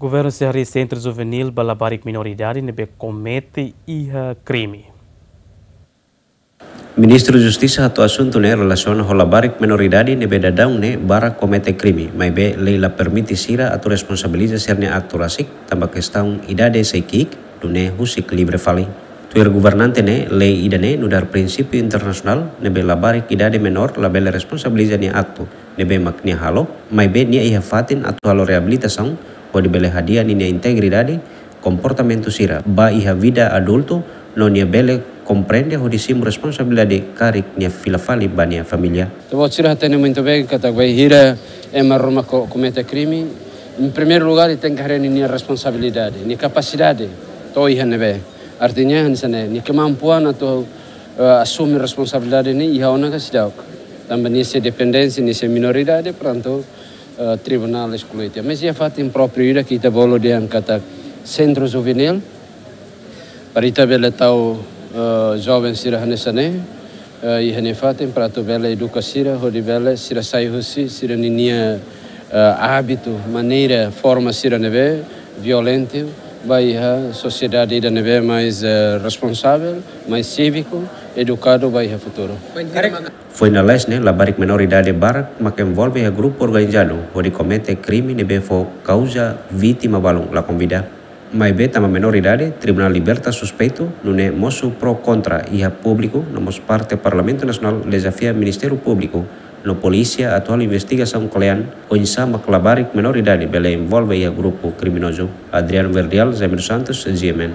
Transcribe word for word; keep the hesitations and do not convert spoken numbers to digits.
Governu sei harii sentru juvenil ba labarik menoridade ne'ebé komete iha krime. Ministru Justisa hato'o asuntu ne'e relasiona ho labarik menoridade ne'ebé daudaun ne'e barak komete krime, maibé lei la permite sira atu responsabiliza sira-nia aktu rasik, tanba kestaun idade sei ki'ik, nune'e husik livre fali. Tuir governante ne'e, lei ida-ne'e nu'udar prinsípiu internasionál ne'ebé labarik idade menór labele responsabiliza nia aktu ne'ebé mak nia halo, maibé nia iha fatin atu halo reabilitasaun hodi bele hadi'a ninia integridade, komportamentu sira ba iha vida adultu, no nia bele komprende hodi simu responsabilidade karik nia fila fali ba nia família. Ita-boot sira hatene muito bem katak bainhira ema ruma ko-, komete krime, em primeiro lugar, nia tenke haree ninia responsabilidade, nia kapasidade to'o iha ne'ebé. Artinya, hanesan ne'e, nia kemampuan atu, eh, asume responsabilidade ne'e iha ona ka seidauk. Tanba nia sei dependente, nia sei menoridade, prontu, eh, tribunál esklui tiha. Mas iha fatin própriu ida ke ita bolu dehan katak sentru juvenil, para ita bele tau, eh, joven sira hanesan ne'e, eh, iha nia fatin para atu bele eduka sira, hodi bele sira sai husi sira-ninia, eh, hábitu, maneira, forma sira ne'ebé violentu, ba iha sosiedade ida ne'ebé mais, eh, responsavel, mais cívico, edukadu ba iha futuru. Foin lalais ne'e, labarik menoridade barak mak envolve iha grupu organizadu hodi komete krime ne'ebé fó kauza vítima balun la konvida. Maibé tanba menoridade, tribunál liberta suspeitu, nune'e mosu pró kontra iha públiku, no mós parte Parlamentu Nasionál dezafia Ministériu Públiku no polísia atu halo investigasaun kle'an, oinsá mak labarik menoridade bele envolve iha grupu kriminozu. Adriano Verdial, Jaime dos Santos, G M N.